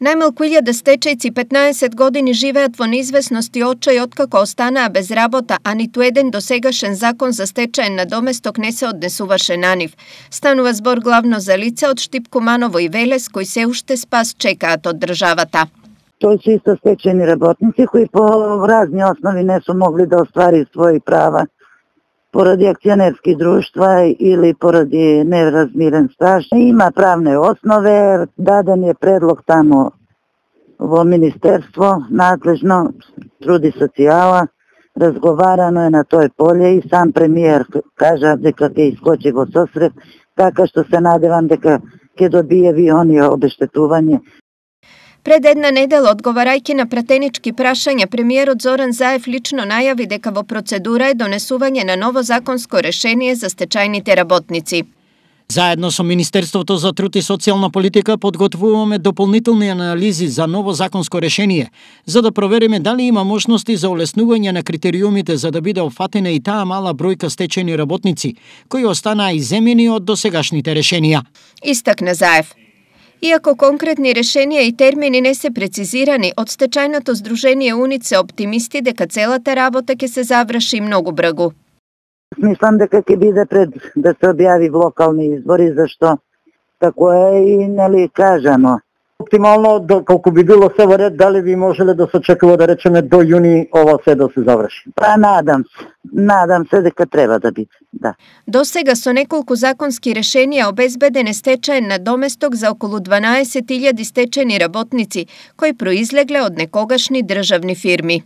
Најмалку 1000 стечајци 15 години живеат во неизвестност и очај откако останаа без работа, а ниту еден досегашен закон за стечаен надоместок не се однесуваше на нив. Станува збор главно за лица од Штип, Куманово и Велес кои се уште спас чекаат од државата. Тој се исто стечени работници кои по разни основи не су могли да оствари своји права поради акционерски друштва или поради неразмирен стаж. Има правне основе, даден е предлог тамо во Министерство, надлежно труд и социјала, разговарано е на тој поле и сам премиер кажа дека ќе искочи во сосрет, така што се надевам дека ќе добие оние обештетување. Пред една недела, одговарајќи на пратенички прашања, премиерот Зоран Заев лично најави дека во процедура е донесување на ново законско решение за стечајните работници. Заедно со Министерството за труд и социјална политика подготвуваме дополнителни анализи за ново законско решение, за да провериме дали има можности за олеснување на критериумите за да биде офатена и таа мала бројка стечајни работници, кои останаа иземени од досегашните решенија. Истакна Заев. Иако конкретни решенија и термини не се прецизирани, од стечајното здружение УНИЦ се оптимисти дека целата работа ќе се заврши многу брзо. Мислам дека ќе биде пред да се објави локални избори, зашто тако е и нели кажано. Оптимално, доколку би било се во ред, дали би можеле да се очекува да речеме до јуни ова се да се заврши? Па надам се дека треба да биде, да. До сега со неколку законски решенија обезбеден е стечаен надоместок за околу 12.000 стечајни работници кои произлегле од некогашни државни фирми.